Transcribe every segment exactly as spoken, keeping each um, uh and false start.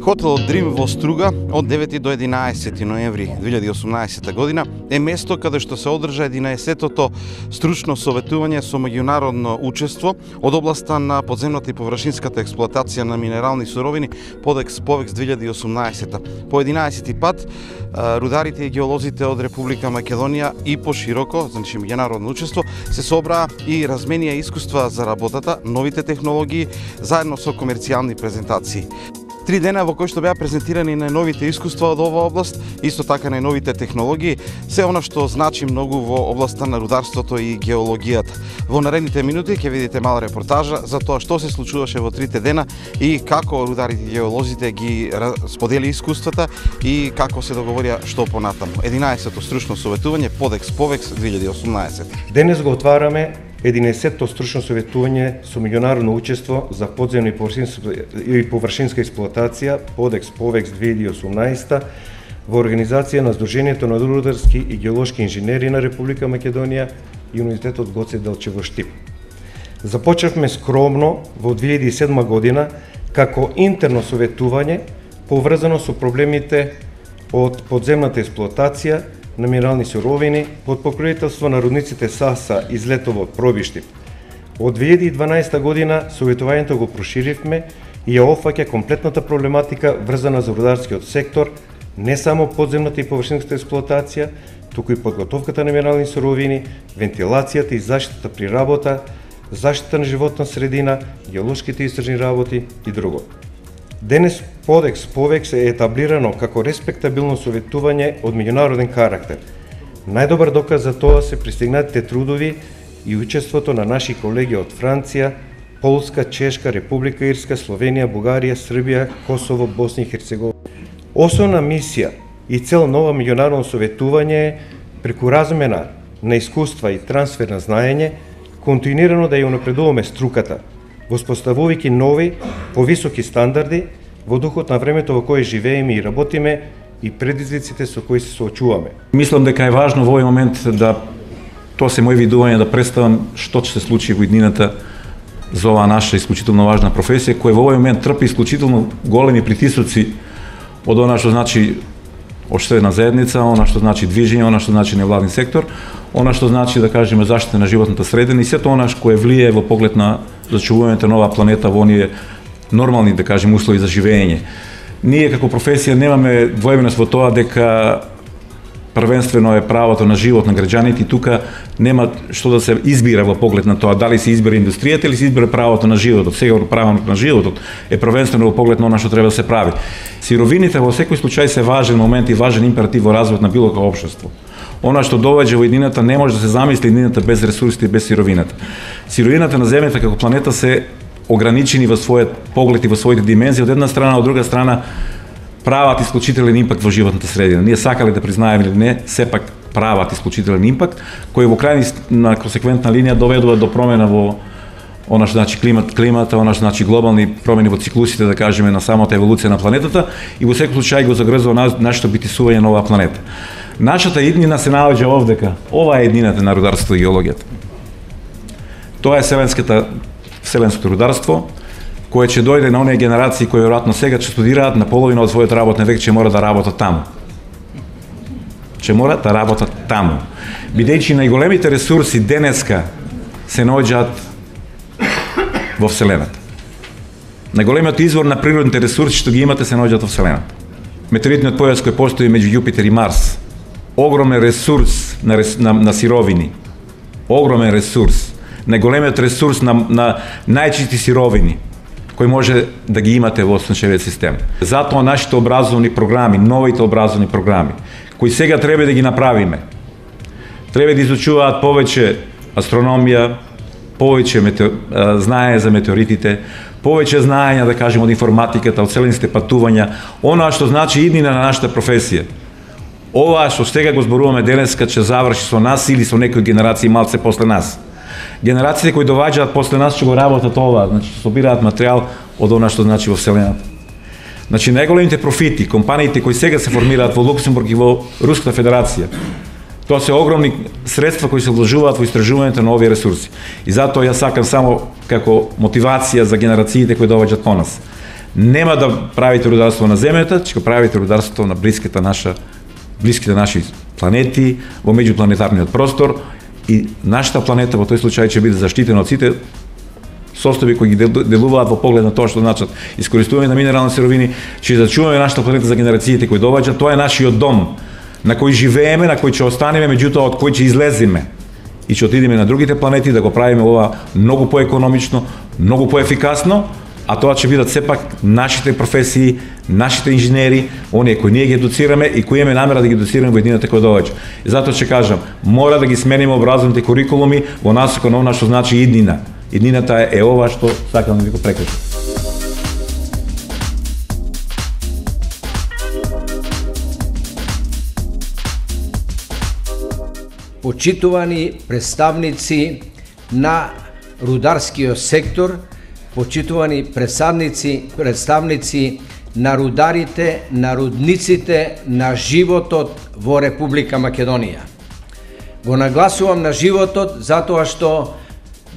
Хотелот Дрим во Струга од девети до единаесети ноември две илјади и осумнаесета година е место каде што се одржа единаесеттото стручно советување со меѓународно учество од областа на подземната и површинската експлоатација на минерални суровини Подекс Повекс две илјади и осумнаесета. По единаесети пат рударите и геолозите од Република Македонија и пошироко, значи меѓународно учество, се собраа и разменија искуства за работата, новите технологии, заедно со комерцијални презентации. Три дена во кои што беа презентирани најновите искуства од оваа област, исто така најновите технологии, се она што значи многу во областа на рударството и геологијата. Во наредните минути ќе видите мала репортажа за тоа што се случуваше во трите дена и како рударите и геолозите ги сподели искуствата и како се договорија што понатаму. единаесетото стручно советување Подекс Повекс две илјади и осумнаесета. Денес го отвараме единаесеттото стручно советување со меѓународно учество за подземна и површинска експлоатација Подекс Повекс две илјади и осумнаесета во организација на Сдруженијето на рударски и геолошки инженери на Република Македонија и Универзитетот Гоце Делчев во Штип. Започнавме скромно во две илјади и седма година како интерно советување поврзано со проблемите од подземната експлоатација на минерални суровини под покровителство на рудниците Саса и Злетово Пробиштип. Од две илјади и дванаесета година советувањето го проширивме и ја опфаќа комплетната проблематика врзана за рударскиот сектор, не само подземната и површинската експлоатација, туку и подготовката на минерални суровини, вентилацијата и заштитата при работа, заштита на животна средина, геолошките истражни работи и друго. Денес Подекс Повекс е етаблирано како респектабилно советување од меѓународен карактер. Најдобар доказ за тоа се пристигнатите трудови и учеството на наши колеги од Франција, Полска, Чешка, Република Ирска, Словенија, Бугарија, Србија, Косово, Босна и Херцеговина. Основна мисија и цел нова меѓународно советување е преку размена на искуства и трансфер на знаење, континуирано да ја унапредуваме струката, воспоставувајќи нови, повисоки стандарди во духот на времето во кое живееме и работиме и предизвиците со кои се соочуваме. Мислам дека е важно во овој момент да тоа се мој видување да представам што ќе се случи во иднината за оваа наша исклучително важна професија која во овој момент трпи исклучително големи притисоци од она што значи општествена заедница, она што значи движење, она што значи невладин сектор, она што значи да кажеме заштита на животната средина и сето она што кое влие во поглед на зачувувањето на оваа планета во оние нормални, да кажем, услови за живење. Ние како професија немаме двоевност во тоа дека првенствено е правото на живот на граѓаните и тука нема што да се избира во поглед на тоа дали се избира индустријата или се избира правото на животот. Сега правото на животот е првенствено во поглед на она што треба да се прави. Сировините во секој случај се важен момент и важен императив во развојот на било какво општество. Она што доведе во едината не може да се замисли едината без ресурсите и без сировината. Сировината на земјата како планета се ограничени во својот поглед и во своите димензии од една страна, од друга страна прават исклучителен импакт во животната средина. Ние сакале да признаеме или не, сепак прават исклучителен импакт кој во крајна на консеквентна линија доведува до промена во она што значи климат, климата, она што значи глобални промени во циклусите, да кажеме, на самата еволуција на планетата и во секој случај го загрзува нашето битисување на оваа планета. Нашата иднина се наоѓа овдека. Ова е иднината на рударството и геологијата. Тоа е вселенската вселенското рударство, кое ќе дојде на оние генерации кои веројатно сега ќе студираат на половина од својот работен век, ќе мора да работат таму. Ќе мора да работат таму. Бидејќи најголемите ресурси денеска се наоѓаат во вселената. Најголемиот извор на природните ресурси што ги имате се наоѓаат во вселената. Метеоритниот појас кој постои меѓу Јупитер и Марс, огромен ресурс на, рес, на, на сировини, огромен ресурс, најголемиот ресурс на, на најчисти сировини, кој може да ги имате во сончевиот систем. Затоа нашите образовни програми, новите образовни програми, кои сега треба да ги направиме, треба да изучуваат повеќе астрономија, повеќе метеор... знаење за метеоритите, повеќе знаења, да кажем, од информатиката, од вселенските патувања, она што значи иднина на нашата професија. Ова што сега го зборуваме денеска ќе заврши со нас или со некои генерации малце после нас. Генерациите кои доваѓаат после нас ќе го работат ова, значи собираат материјал од она што значи во вселената. Значи најголемите профити, компаниите кои сега се формираат во Луксембург и во Руската федерација, тоа се огромни средства кои се вложуваат во истражувањето на овие ресурси. И затоа јас сакам само како мотивација за генерациите кои доваѓаат по нас. нема да правите рударство на земјата, ќе правите рударство на блиските наша блиските наши планети во меѓупланетарниот простор и нашата планета во тој случај ќе биде заштитена од сите состојби кои ги делуваат во поглед на тоа што значат искористување на минерални сировини, ќе зачуваме нашата планета за генерациите кои доаѓаат. Тоа е нашиот дом на кој живееме, на кој ќе останеме, меѓутоа од кој ќе излеземе и ќе отидеме на другите планети да го правиме ова многу поекономично, многу поефикасно, а тоа ќе бидат сепак нашите професии, нашите инженери, оние кои ние ги едуцираме и кои имаме намера да ги едуцираме во едината која доаѓа. И затоа ќе кажам, мора да ги смениме образовните курикулуми во насока на она што значи иднина. Иднината е, е ова што сакам да ви го прекажам. Почитувани представници на рударскиот сектор, почитувани представници, представници на рударите, на рудниците, на животот во Република Македонија. Го нагласувам на животот затоа што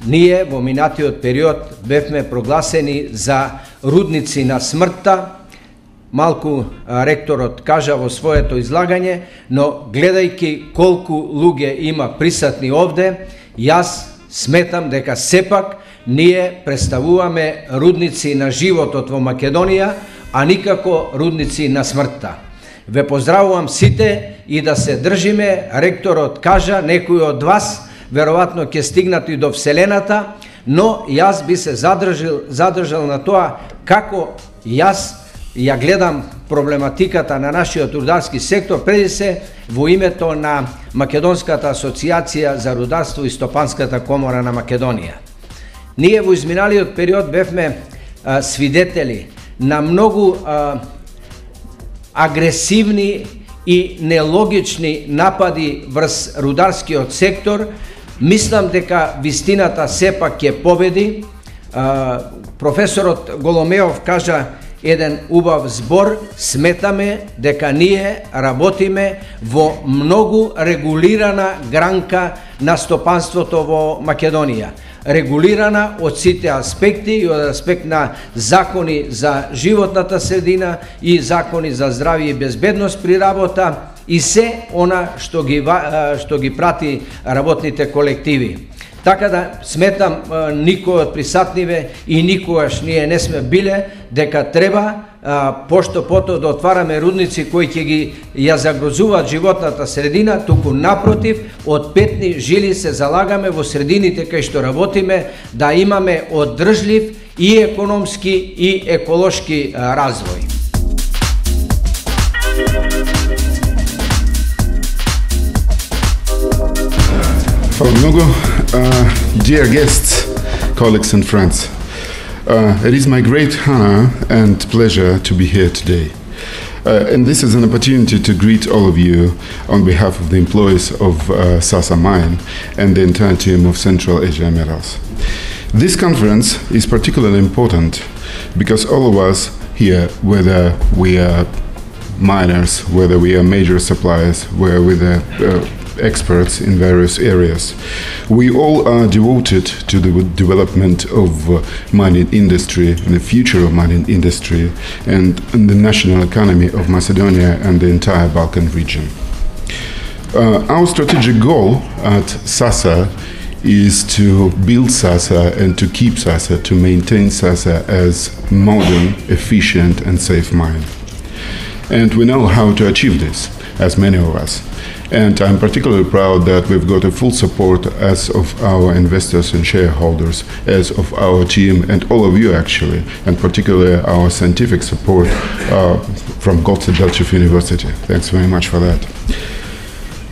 ние во минатиот период бевме прогласени за рудници на смртта. Малку ректорот кажа во своето излагање, но гледајќи колку луѓе има присутни овде, јас сметам дека сепак ние представуваме рудници на животот во Македонија, а никако рудници на смртта. Ве поздравувам сите и да се држиме, ректорот кажа, некои од вас веројатно ќе стигнат и до Вселената, но јас би се задржал, задржал на тоа како јас ја гледам проблематиката на нашиот рударски сектор, преди се во името на Македонската асоциација за рударство и Стопанската комора на Македонија. Ние во изминалиот период бевме а, свидетели на многу а, агресивни и нелогични напади врз рударскиот сектор. Мислам дека вистината сепак ќе победи. А, професорот Голомеов кажа еден убав збор, сметаме дека ние работиме во многу регулирана гранка на стопанството во Македонија. Регулирана од сите аспекти и од аспект на закони за животната средина и закони за здравје и безбедност при работа и се она што ги, што ги прати работните колективи. Така да сметам никој од присутниве и никогаш ние не сме биле дека треба пошто пото да отвараме рудници кои ќе ги ја загрозуваат животната средина, туку напротив, од петни жили се залагаме во средините кај што работиме да имаме одржлив и економски и еколошки развој. Hvala mnogo. Uh, dear guests, colleagues and friends, uh, it is my great honor and pleasure to be here today. Uh, and this is an opportunity to greet all of you on behalf of the employees of uh, Sasa Mine and the entire team of Central Asia Metals. This conference is particularly important because all of us here, whether we are miners, whether we are major suppliers, whether we are uh, experts in various areas, we all are devoted to the development of uh, mining industry and the future of mining industry and, and the national economy of Macedonia and the entire Balkan region. Uh, our strategic goal at Sasa is to build Sasa and to keep Sasa, to maintain Sasa as modern, efficient and safe mine. And we know how to achieve this, as many of us. And I'm particularly proud that we've got a full support as of our investors and shareholders, as of our team and all of you actually, and particularly our scientific support uh, from Goce Delchev University. Thanks very much for that.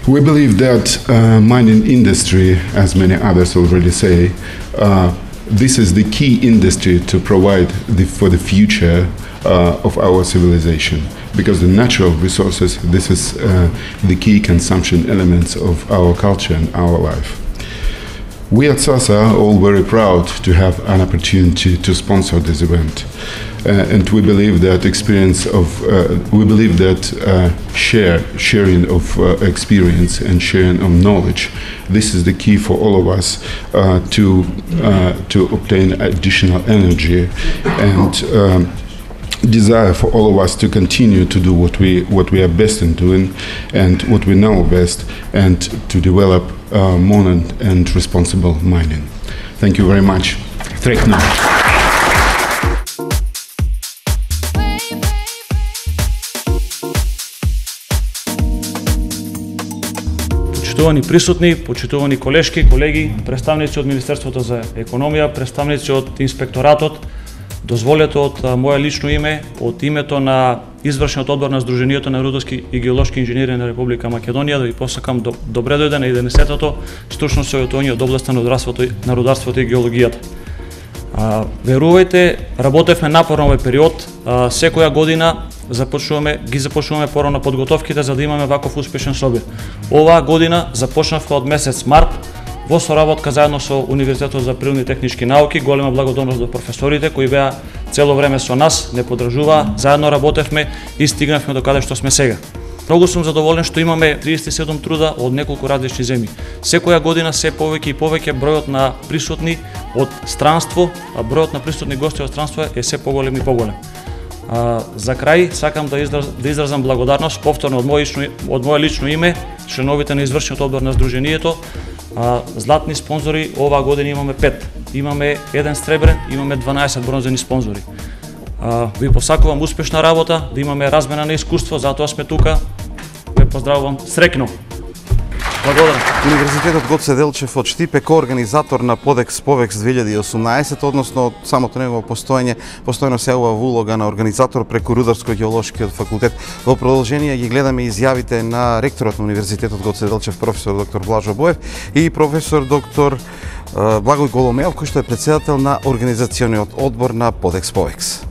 We believe that uh, mining industry, as many others already say, uh, this is the key industry to provide the, for the future uh, of our civilization. Because the natural resources, this is uh, the key consumption elements of our culture and our life. We at Sasa are all very proud to have an opportunity to sponsor this event. Uh, and we believe that experience of, uh, we believe that uh, share, sharing of uh, experience and sharing of knowledge, this is the key for all of us uh, to, uh, to obtain additional energy and um, desire for all of us to continue to do what we what we are best in doing and what we know best, and to develop uh, modern and responsible mining. Thank you very much. Trekna. Почитувани присутни, почитувани колешки, колеги, представници од Министерството за економија, представници од Инспекторатот, дозволете од моје лично име, од името на извршниот одбор на Сдруженијето на рударски и геолошки инженери на Република Македонија да ви посакам добре дојде на единесеттото стручно советување од областа на рударството, на рударството и геологијата. А, верувајте, работевме напорно овој период, а, секоја година започнуваме, ги започнуваме порано подготовките за да имаме ваков успешен собир. Оваа година започнавме од месец март во соработка заедно со Универзитетот за природни и технички науки. Голема благодарност до професорите кои беа цело време со нас, не подржуваа, заедно работевме и стигнавме до каде што сме сега. Многу сум задоволен што имаме триесет и седум труда од неколку различни земји. Секоја година се повеќе и повеќе бројот на присутни од странство, а бројот на присутни гости од странство е се поголем и поголем. А, за крај сакам да, израз, да изразам благодарност повторно од моје лично, од моје лично име, членовите на извршниот одбор на Сдруженијето. А, златни спонзори оваа година имаме пет. Имаме еден сребрен, имаме дванаесет бронзени спонзори. А, ви посакувам успешна работа, да имаме размена на искуство, затоа сме тука. Ве поздравувам среќно. Благодарам. Универзитетот Гоце Делчев од Штип е коорганизатор на Подекс Повекс две илјади и осумнаесет, односно од самото негово постоење, постојано се ова улога на организатор преку Рударско-геолошкиот факултет. Во продолжение ги гледаме изјавите на ректорот на Универзитетот Гоце Делчев, професор доктор Блажо Боев и професор доктор Благој Голомеов, кој што е председател на организациониот одбор на Подекс Повекс.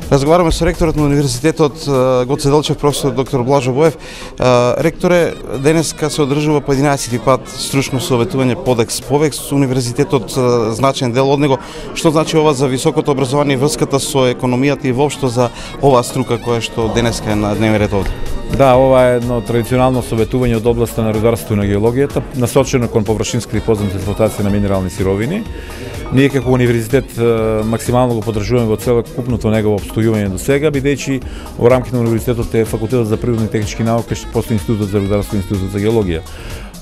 Разговараме со ректорот на Универзитетот Гоце Делчев, професор доктор Блажо Боев. Ректоре, денеска се одржува по единаесети пат стручно советување Подекс Повекс. Универзитетот значен дел од него. Што значи ова за високото образование и врската со економијата и воопшто за оваа струка која што денеска е на дневен ред овде? Да, ова е едно традиционално советување од областа на рударството и на геологијата, насочено кон површинска и подземна експлоатација на минерални сировини. Ние како универзитет максимално го поддржуваме во целокупното негово обстојување до сега, бидејќи во рамките на универзитетот е факултетот за природни и технички науки, што постои Институтот за рударство и Институтот за геологија.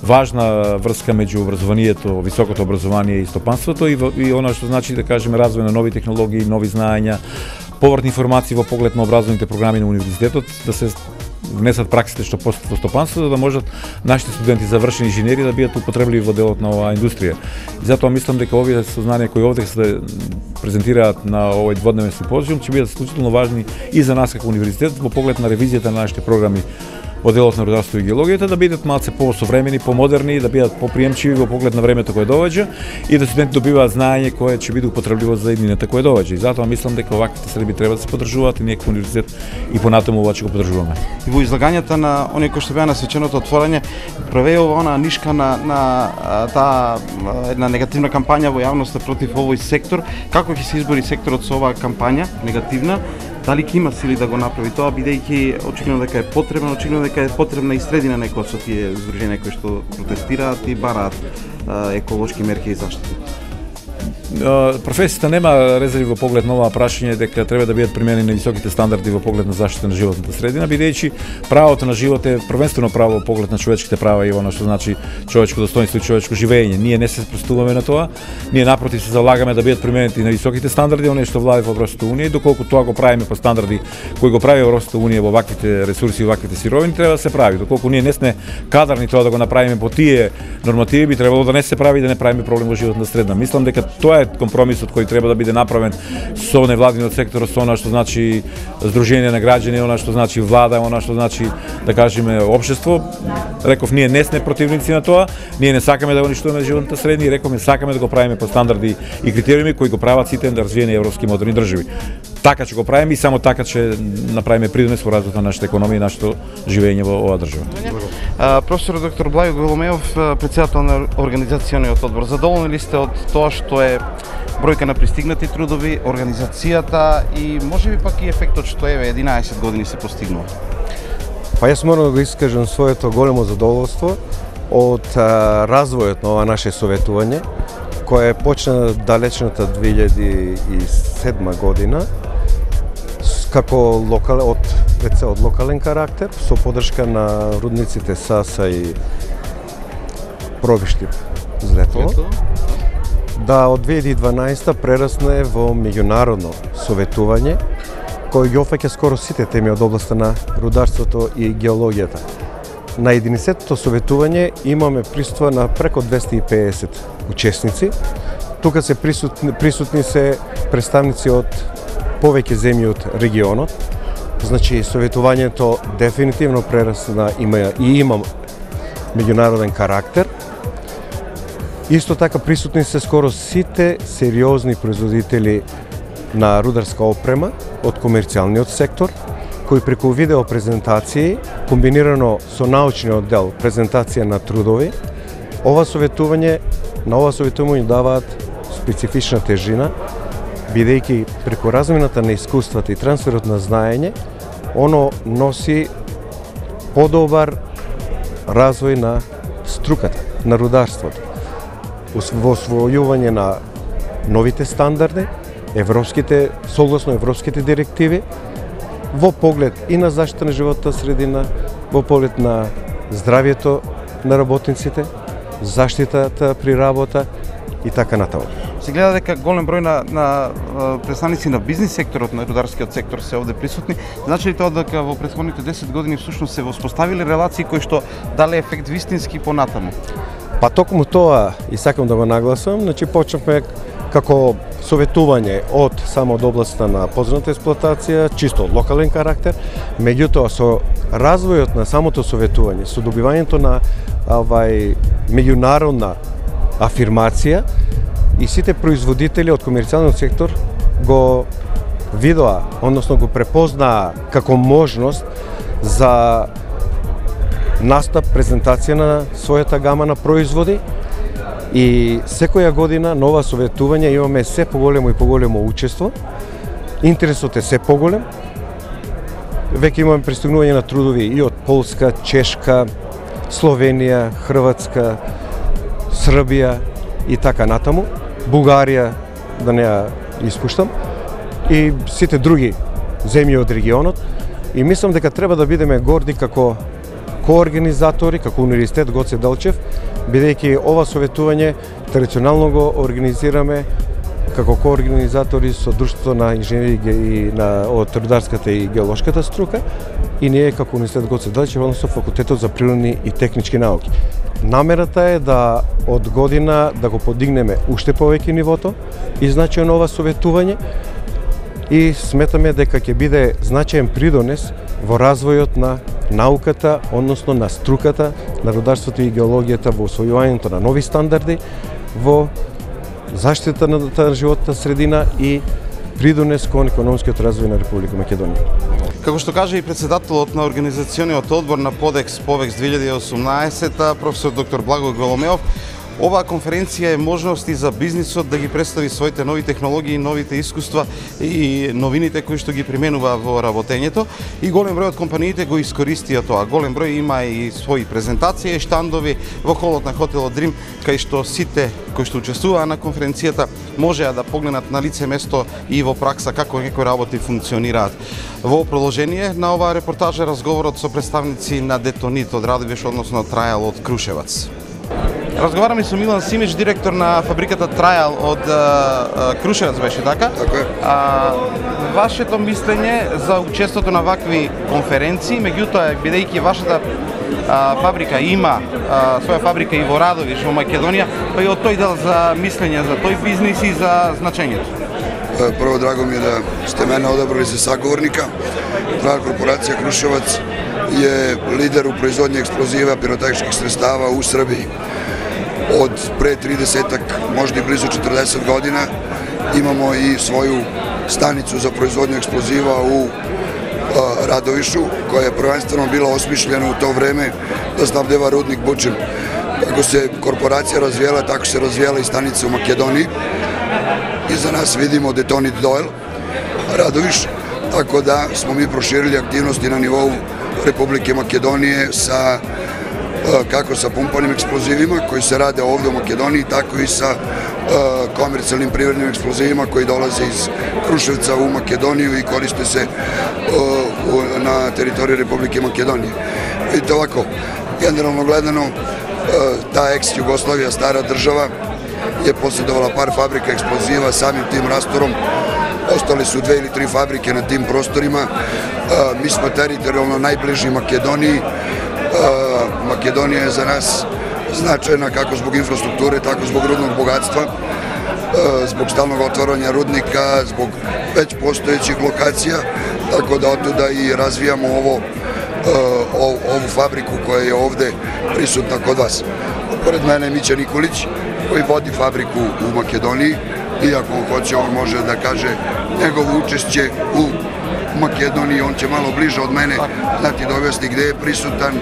Важна врска меѓу образованието, високото образование и стопанството и, и она што значи да кажеме развој на нови технологии, нови знаења, повратни информации во поглед на образовните програми на универзитетот, да се внесат праксите што постојат во стопанството, за да можат нашите студенти завршени инженери да бидат употребливи во делот на оваа индустрија. И затоа мислам дека овие сознанија кои овде се презентираат на овој дводневен симпозиум ќе бидат исклучително важни и за нас како универзитет во поглед на ревизијата на нашите програми во делот на рударство и геологијата, да бидат малце посовремени, помодерни, да бидат поприемчиви во поглед на времето кое доаѓа и да студентите добиваат знаење кое ќе биде употребливо за иднината кое доаѓа. И затоа мислам дека оваквите среди треба да се поддржуваат и ние како универзитет и понатаму ова ќе го поддржуваме. И во излагањата на оние кои што беа на свеченото отворање, провеува она нишка на на таа една негативна кампања во јавноста против овој сектор. Како ќе се избори секторот со оваа кампања негативна? Дали ќе има сили да го направи тоа, бидејќи очигледно дека е потребно, очигледно дека е потребна и средина некоја со тие здруженија кои што протестираат и бараат еколошки мерки и заштити? Професијата нема резерви во поглед на ова прашање дека треба да бидат применени високите стандарди во поглед на заштита на животната средина, бидејќи правото на живот е првенствено право во поглед на човечките права и она што значи човечко достоинство и човечко живење. Ние не се спростуваме на тоа, ние напротив се залагаме да бидат применети на високите стандарди, оние што влади во Европската унија, и доколку тоа го правиме по стандарди кои го прави Европската унија во ваквите ресурси и ваквите сировини, треба да се прави. Доколку ние не сме кадарни тоа да го направиме по тие нормативи, би требало да не се прави и да не правиме проблем во животната средина. Мислам дека тоа е компромисот кој треба да биде направен со невладиниот сектор, со она што значи здружение на граѓани, она што значи влада, она што значи да кажеме општество. Реков, ние не сме противници на тоа, ние не сакаме да го уништуваме животната средина и рековме сакаме да го правиме по стандарди и критериуми кои го прават сите развиени европски модерни држави. Така ќе го правиме и само така ќе направиме придонес во развојот на нашата економија и нашето живење во оваа држава. Професор доктор Благој Голомеов, председател на организациониот одбор, задоволни ли сте од тоа што е бројка на пристигнати трудови, организацијата и можеби пак и ефектот што еве единаесет години се постигнува? Па јас морам да го искажам своето големо задоволство од а, развојот на ова наше советување, која е почна далечната две илјади и седма година, како локал, од, веќе од локален карактер, со подршка на рудниците Саса и Пробиштип Злетово, да од две илјади и дванаесета прерасне во меѓународно советување, кој ги опфаќа скоро сите теми од областа на рударството и геологијата. На единесеттото советување имаме присуство на преку двесте и педесет учесници. Тука се присутни, присутни се представници од повеќе земји од регионот. Значи, советувањето дефинитивно прерасна има и има меѓународен карактер. Исто така присутни се скоро сите сериозни производители на рударска опрема од комерцијалниот сектор, кои преку видео презентации, комбинирано со научниот дел презентација на трудови, ова советување, на ова советување даваат специфична тежина, бидејќи преку размената на искуствата и трансферот на знаење, оно носи подобар развој на струката, на рударството, во освојување на новите стандарди, европските, согласно европските директиви, во поглед и на заштита на животната средина, во поглед на здравието на работниците, заштитата при работа и така натаму. Се гледа дека голем број на, на представници на бизнис секторот, на рударскиот сектор се овде присутни. Значи ли тоа дека во претходните десет години всушност се воспоставиле релации кои што дале ефект вистински понатаму? Па токму тоа и сакам да го нагласам, значи почнавме како советување од само од областа на подземната експлоатација, чисто од локален карактер, меѓутоа со развојот на самото советување, со добивањето на овај меѓународна афирмација и сите производители од комерцијалниот сектор го видоа, односно го препознаа како можност за настап, презентација на својата гама на производи. И секоја година на ова советување имаме се поголемо и поголемо учество. Интересот е се поголем. Веќе имаме пристигнување на трудови и од Полска, Чешка, Словенија, Хрватска, Србија и така натаму. Бугарија, да не ја испуштам, и сите други земји од регионот. И мислам дека треба да бидеме горди како коорганизатори, како Универзитет Гоце Делчев, бидејќи ова советување традиционално го организираме како коорганизатори со Друштвото на инженери и на од рударската и геолошката струка, и ние како Универзитет Гоце Делчев, односно Факултетот за природни и технички науки. Намерата е да од година да го подигнеме уште повеќе нивото и значајно на ова советување, и сметаме дека ќе биде значаен придонес во развојот на науката, односно на струката, на рударството и геологијата, во освојувањето на нови стандарди, во заштита на животната средина и придонес кон економскиот развој на Република Македонија. Како што кажа и председателот на организациониот одбор на Подекс Повекс две илјади и осумнаесета, професор доктор Благој Голомеов, оваа конференција е можност и за бизнисот да ги представи своите нови технологии, новите искуства и новините кои што ги применува во работењето, и голем број од компаниите го искористија тоа. Голем број има и своји презентации и штандови во холот на хотелот Дрим, кај што сите кои што учествуваа на конференцијата можеа да погледнат на лице место и во пракса како некои работи функционираат. Во продолжение на оваа репортажа разговорот со представници на Детонит од Радовиш, односно Трајал од Крушевац. Разговараме со Милан Симич, директор на фабриката Трајал од а, Крушевац, беше така? Така е. А, вашето мислење за учеството на вакви конференции, меѓутоа, бидејќи вашата а, фабрика има а, своја фабрика и во Радовиш, во Македонија, па и од тој дел за мислење за тој бизнис и за значењето. Прво, драго ми е да сте мене одабрали за саговорника. Трајал корпорација Крушевац е лидер у производње експлозива, пиротехничких средстава у Србија. Од пред тридесет, можда и близу четрдесет година, имамо и своју станицу за производње експлозива у а, Радовишу, која е првенствено била осмишлена у то време да снабдева рудник Бучем. Како се корпорација развиела, така се развиела и станица у Македонија. И за нас видимо Детонит Дойл, Радовиш, така да смо ми проширили активности на нивоу Републике Македонија са како sa pumpanim eksplozivima koji se rade ovde u Makedoniji, tako i sa komercijalnim privrednim eksplozivima koji dolaze iz Kruševca u Makedoniju i koriste se na teritoriji Republike Makedonije. Vidite ovako, generalno gledano, ta ex-Jugoslavija, stara država, je posjedovala par fabrika eksploziva, samim tim rastorom ostale su dve ili tri fabrike na tim prostorima. Mi smo teritorijalno najbliži Makedoniji. Makedonija je za nas značajna kako zbog infrastrukture, tako zbog rudnog bogatstva, zbog stalnog otvaranja rudnika, zbog već postojećih lokacija, tako da otuda i razvijamo ovo, ovu fabriku koja je ovde prisutna kod vas. Pored mene je Mića Nikolić, koji vodi fabriku u Makedoniji, i ako on hoće, on može da kaže njegovo učešće u Makedoniji, on će malo bliže od mene znati da objasni gde je prisutan,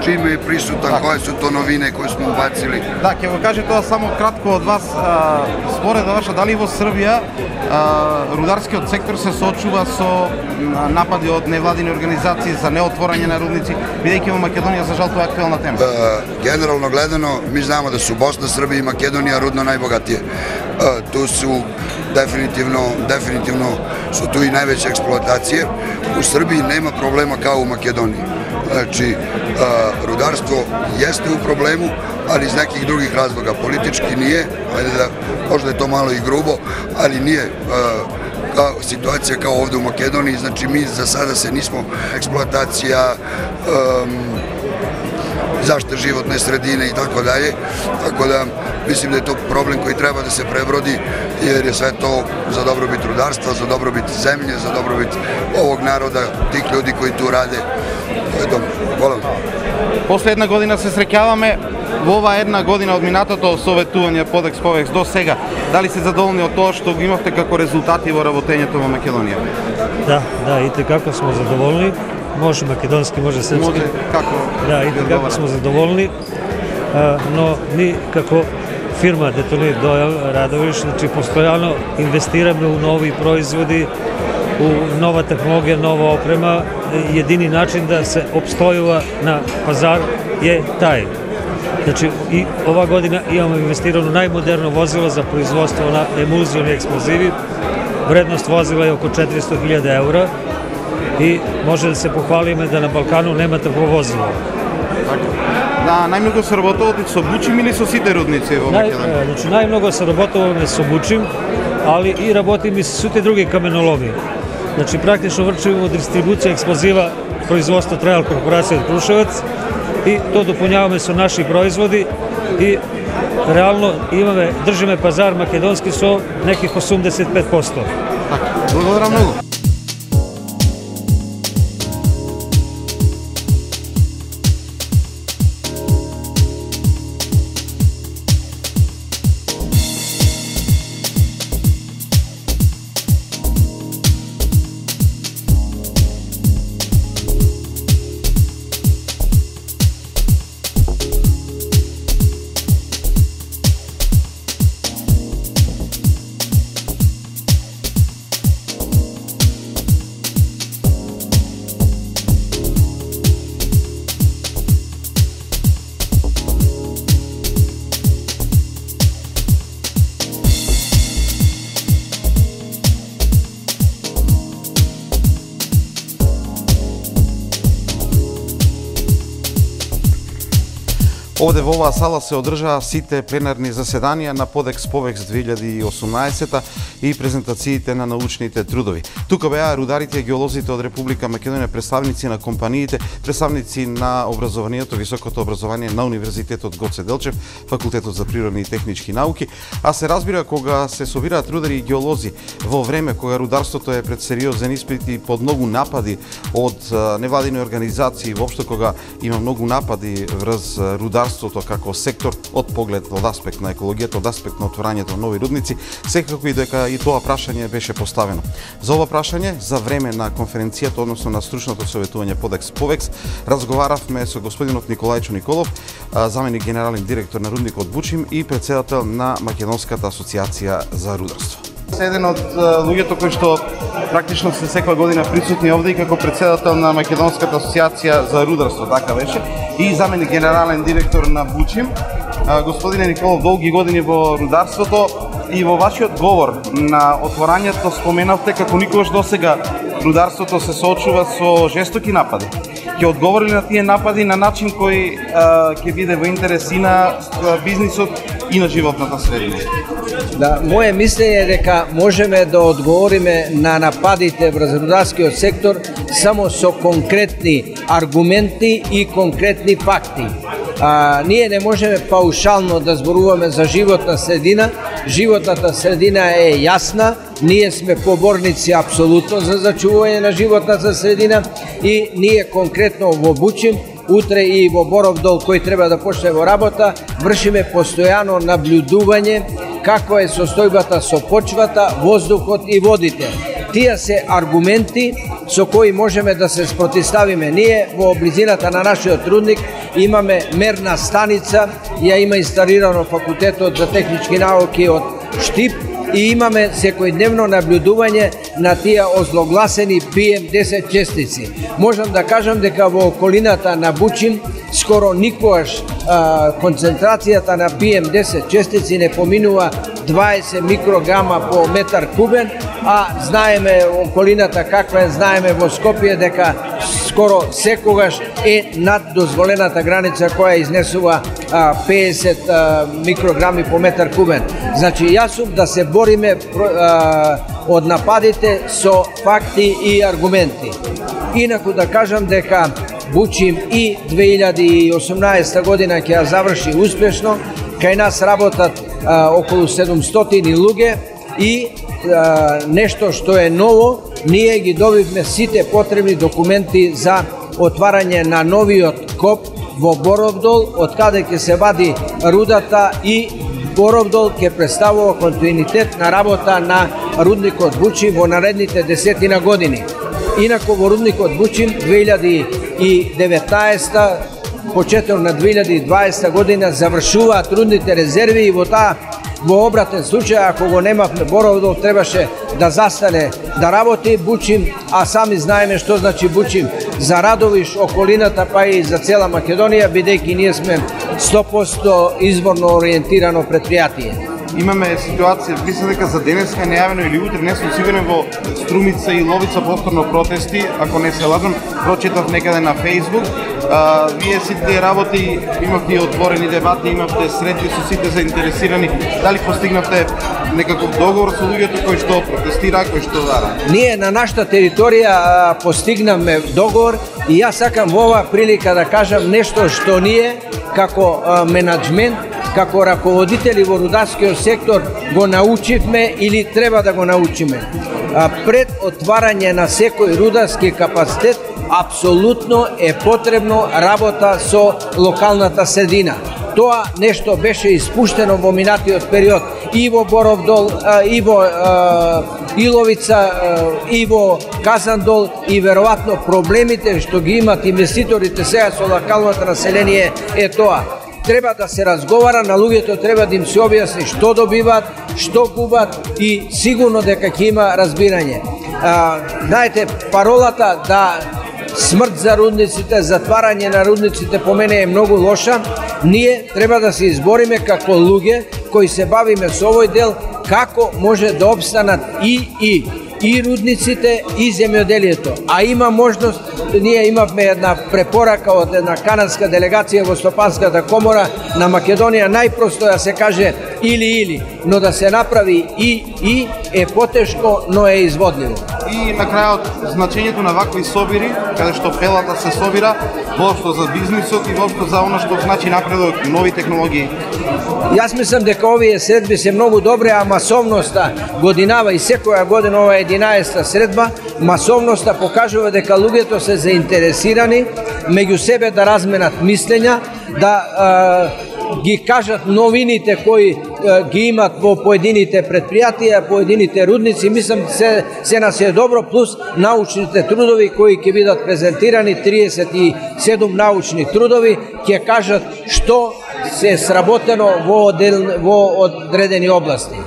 čime je prisutan, koje su to novine koje smo ubacili. Да, ќе го кажете тоа само кратко од вас. Според ваша, дали во Србија рударскиот сектор се соочува со напади од невладини организации за неотворање на рудници, бидејќи во Македонија за жал тоа е актуелна тема? Генерално гледано, ми знамо да су Босна, Србија и Македонија рудно најбогатije. Tu su definitivno, definitivno su tu i najveće eksploatacije. U Srbiji nema problema kao u Makedoniji. Znači, rudarstvo jeste u problemu, ali iz nekih drugih razloga. Politički nije, ajde da, možda je to malo i grubo, ali nije kao situacija kao ovde u Makedoniji. Znači, mi za sada se nismo eksploatacija, zaštite životne sredine i tako dalje, tako da mislim da je to problem koji treba da se prebrodi, jer je sve to za dobrobit rudarstva, za dobrobit zemlje, za dobrobit ovog naroda, tih ljudi koji tu rade. To je dobro. Hvala. После една година се среќаваме. Во ова една година од минатото советување под Експовекс до сега, дали се задоволни од тоа што го имавте како резултати во работењето во Македонија? Да, да, и како смо задоволни. Може македонски, може српски. Може, како? Да, и како смо задоволни. Но ми како фирма Детонит Дојал Радовиш, значи постојано инвестираме у нови производи, у нова технологија, нова опрема. Едини начин да се обстојува на пазар е тај. Значи, и ова година имаме инвестирано најмодерно возило за производство на емулзиони експлозиви. Вредност возила е око четиристо илјади евра и може да се похвалиме да на Балкану нема такво возило. Да, најмногу се работувате со Бучим или со сите рудници во Македонија? Значи, најмногу се работуваме со Бучим, али и работиме и со сите други каменоломи. Значи, практично врчуваме дистрибуција експлозива производство Трајал корпорација од Крушевец и то допуњаваме со наши производи и реално имаме, држиме пазар македонски со неких осумдесет и пет проценти. Благодарам многу. Овде во оваа сала се одржаа сите пленарни заседанија на под Експовекс две илјади и осумнаесета и презентациите на научните трудови. Тука беа рударите и геолозите од Република Македонија, представници на компаниите, представници на образованието, високото образование на Универзитетот Гоце Делчев, Факултетот за природни и технички науки, а се разбира кога се собираат рудари и геолози во време кога рударството е пред сериозен испит и под многу напади од невладини организации, воопшто кога има многу напади врз рударството како сектор од поглед од аспект на екологијата, од аспект на отворањето на нови рудници, секако и дека и тоа прашање беше поставено. За ова прашање, за време на конференцијата, односно на стручното советување под Експовекс, разговаравме со господинот Николајчо Николов, заменик генерален директор на рудникот Бучим и претседател на Македонската асоциација за рударство. Се еден од луѓето кои што практично се секоја година присутни овде и како председател на Македонската асоциација за рударство, така беше, и заменик генерален директор на Бучим. Господине Николов, долги години во рударството и во вашиот говор на отворањето споменавте како никогаш досега рударството се соочува со жестоки напади. Ќе одговори на тие напади на начин кој ќе биде во интерес и на бизнисот и на животната средина? Да, моje мислење е дека можеме да одговориме на нападите врз рударскиот сектор само со конкретни аргументи и конкретни факти. А, ние не можеме паушално да зборуваме за животна средина. Животната средина е јасна, ние сме поборници апсолутно за зачувување на животната средина и ние конкретно во Бучим, утре и во Боров Дол кој треба да почне во работа, вршиме постојано наблюдување како е состојбата со почвата, воздухот и водите. Тие се аргументи со кои можеме да се спротивставиме. Ние во близината на нашиот рудник имаме мерна станица, ја има инсталирано факултетот за технички науки од Штип и имаме секојдневно наблюдување на тие озлогласени пи ем десет честици. Можам да кажам дека во околината на Бучим скоро никогаш а, концентрацијата на пи ем десет честици не поминува дваесет микрограма по метар кубен, а знаеме околината каква е, знаеме во Скопје дека скоро секогаш е над дозволената граница која изнесува а, педесет а, микрограми по метар кубен. Значи јас сум да се бориме а, од нападите со факти и аргументи. Инаку да кажам дека Бучим и две илјади и осумнаесета година ќе ја заврши успешно. Кај нас работат а, околу седумстотини луѓе и а, нешто што е ново, ние ги добивме сите потребни документи за отварање на новиот коп во Боров Дол, од каде ќе се вади рудата и Боров Дол ќе представува континуитет на работа на рудникот Бучим во наредните десетина години. Инаку во рудникот Бучим две илјади и деветнаесета, почеток на две илјади и дваесета година завршуваат рудните резерви и во таа во обратен случај, ако го немавме Боров Дол, требаше да застане да работи Бучим, а сами знаеме што значи Бучим за Радовиш, околината, па и за цела Македонија, бидејќи ние сме сто проценти изворно ориентирано предпријатие. Имаме ситуација, мислам дека за денеска нејавено или утре, не сум сигурен, во Струмица и Ловица повторно протести, ако не се лажам, прочитав некаде на Facebook. А, вие сите работи, имавте отворени дебати, имавте срети со сите заинтересирани. Дали постигнавте некаков договор со луѓето кои што протестира, кои што дара? Ние на нашата територија а, постигнавме договор и јас сакам во оваа прилика да кажам нешто што ние како а, менаџмент, како раководители во рударскиот сектор го научивме или треба да го научиме. А, пред отварање на секој рударски капацитет апсолутно е потребно работа со локалната средина. Тоа нешто беше испуштено во минатиот период и во Боров Дол, и во Иловица, и во Казандол, и веројатно проблемите што ги имат инвеститорите сега со локалното население е тоа. Треба да се разговара, на луѓето треба да им се објасни што добиваат, што губат и сигурно дека ќе има разбирање. А, знаете, паролата да смрт за рудниците, затварање на рудниците по мене е многу лоша. Ние треба да се избориме како луѓе кои се бавиме со овој дел, како може да обстанат и и и рудниците и земјоделието. А има можност, ние имавме една препорака од една канадска делегација во Стопанската комора на Македонија, најпросто да се каже или-или, но да се направи и и е потешко, но е изводливо. И на крајот, значењето на вакви собири, каде што пелата се собира, воопшто за бизнисот и воопшто за оно што значи напредок, нови технологии. Јас мислам дека овие средби се многу добри, а масовноста годинава и секоја година ова е единаесета средба, масовноста покажува дека луѓето се заинтересирани меѓу себе да разменат мислења, да а, ги кажат новините кои а, ги имат во поедините предпријатија, поедините рудници. Мислам се се нас е добро, плюс научните трудови кои ќе бидат презентирани, триесет и седум научни трудови ќе кажат што се сработено во, одел, во одредени области.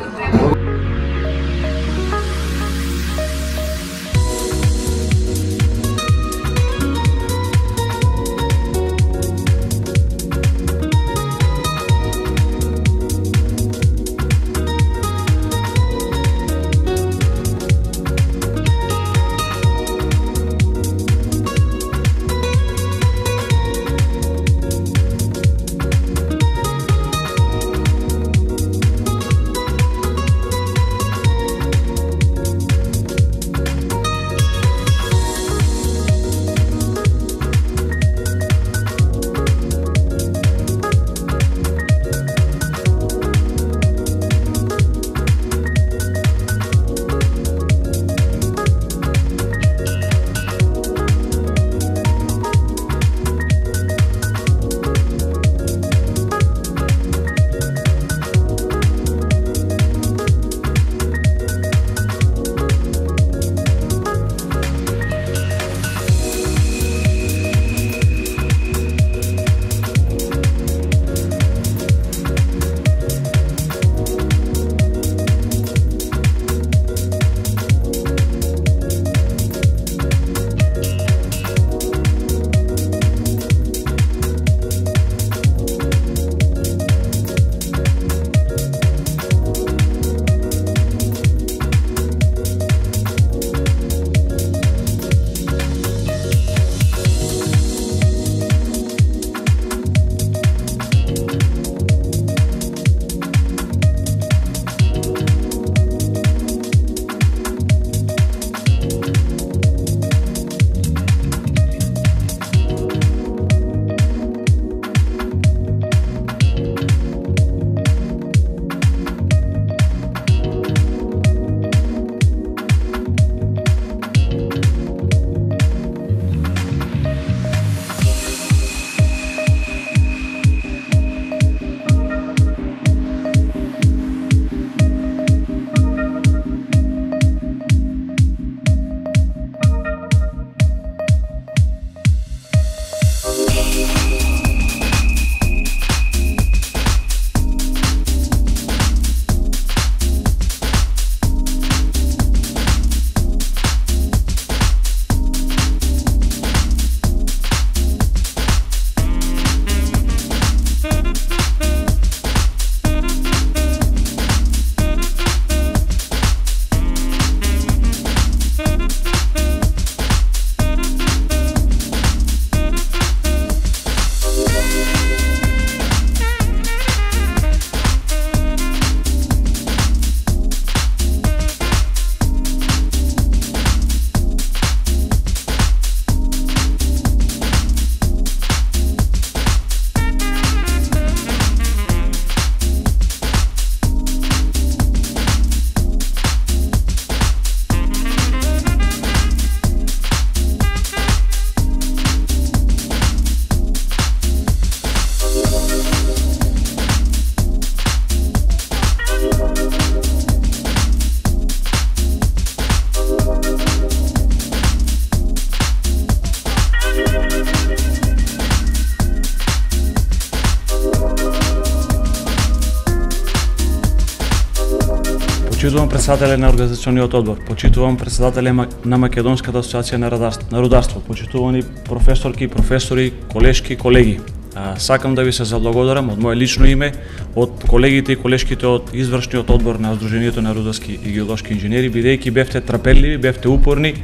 Почитувам председателя на организационниот одбор, почитувам председателя на Македонската асоциација на рударство, на рударство, почитувани професорки, професори, колешки, колеги. А, сакам да ви се заблагодарам од мое лично име, од колегите и колешките од извршниот одбор на Сдруженијето на рударски и геолошки инженери, бидејќи бевте трпеливи, бевте упорни,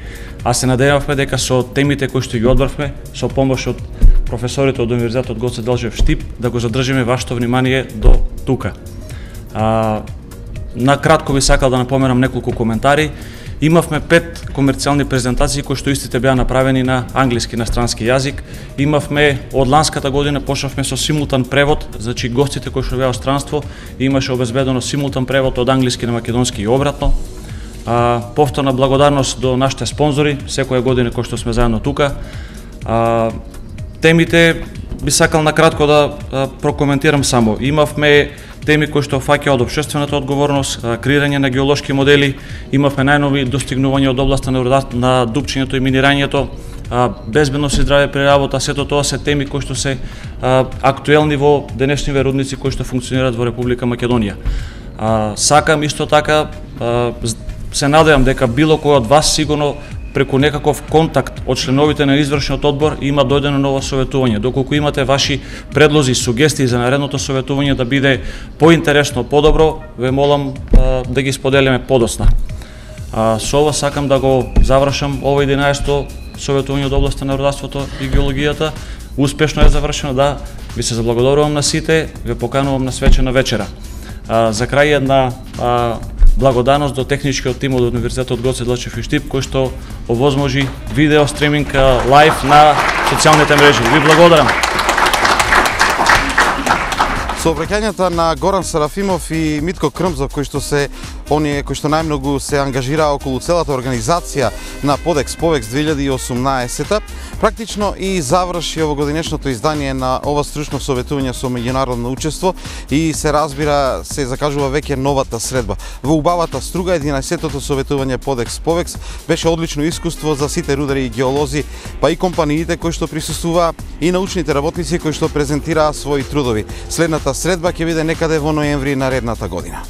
а се надевавме дека со темите кои што ги одбравме, со помош од професорите од Универзитетот Гоце Делчев Штип, да го задржиме вашето внимание до тука. А, На кратко би сакал да напоменам неколку коментари. Имавме пет комерцијални презентации кои што истите беа направени на англиски, на странски јазик. Имавме од ланската година почнавме со симултан превод, значи гостите кои што беа од странство имаше обезбедено симултан превод од англиски на македонски и обратно. А, повторна благодарност до нашите спонзори, секоја година кои што сме заедно тука. А, темите би сакал на кратко да а, прокоментирам само. Имавме теми кои што фаќаат општествената одговорност, креирање на геолошки модели, имавме најнови достигнувања од областа на, на дупчењето и минирањето, безбедност и здраве при работа, сето тоа се теми кои што се а, актуелни во денешниве рудници кои што функционираат во Република Македонија. А, сакам исто така, а, се надевам дека било кој од вас сигурно преку некаков контакт од членовите на извршниот одбор има дојдено ново советување. Доколку имате ваши предлози и сугестии за наредното советување да биде поинтересно, подобро, ве молам а, да ги споделиме подоцна. А, со ова сакам да го завршам ова единаесето советување од областа на рударството и геологијата. Успешно е завршено, да, ви се заблагодарувам на сите, ве поканувам на свечена вечера. А, за крај една а, благодарност до техничкиот тим од Универзитетот Гоце Делчев и Штип, кој што овозможи видео стриминг лайв на социјалните мрежи. Ви благодарам. Со обраќањата на Горан Сарафимов и Митко Крмзов, кои што се оние кои што најмногу се ангажираа околу целата организација на Подекс Повекс две илјади и осумнаесета, практично и заврши овогодинешното издание на ова стручно советување со меѓународно учество и се разбира, се закажува веќе новата средба. Во убавата струга единаесеттото советување Подекс Повекс беше одлично искуство за сите рудари и геолози, па и компаниите кои што присуствуваа и научните работници кои што презентираа своји трудови. Следната средба ќе биде некаде во ноември наредната година.